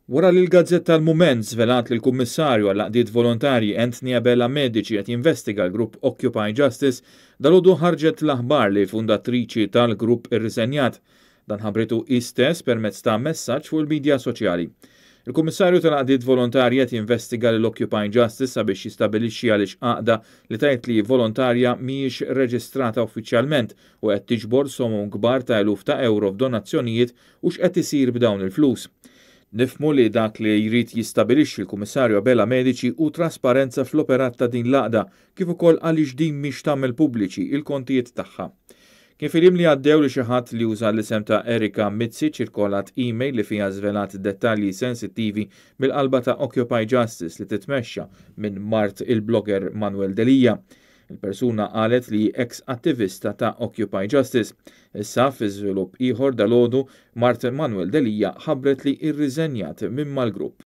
Wara li l-gazzetta Il-Mument żvelat li l-Kummissarju għall-Għaqdiet Volontarji Anthony Abela Medici qed jinvestiga l-grupp Occupy Justice, dalgħodu ħarġet l-aħbar li fundatriċi tal-grupp irriżenjat. Dan ħabbritu hi stess permezz ta' messaġġ fuq il-midja soċjali. Il-Kummissarju tal-Għaqdiet Volontarji qed jinvestiga lil Occupy Justice sabiex jistabilixxi għaliex għaqda li tgħid li hi volontarja mhijiex reġistrata uffiċjalment u qed tiġbor somom kbar ta' eluf ta' ewro f'donazzjonijiet u x'qed isir b'dawn il-flus. Nifhmu li dak li jrid jistabilixxi l-Kummissarju Abela Medici hu trasparenza fl-operat ta' din l-għaqda kif ukoll għaliex din mhix tagħmel pubbliċi il-kontijiet tagħha. Kien fil-jiem li għaddew li xi ħadd li uża l-isem ta' Erika Mizzi ċirkolat email li fiha żvelat dettalji sensittivi mill-qalba ta' Occupy Justice li titmexxa minn mart il-blogger Manuel Delia. Il-persuna qalet li hi eks attivista ta' Occupy Justice. Issa, fi żvilupp ieħor dalgħodu, mart Manuel Delia ħabbret li rriżenjat minn mal-grupp.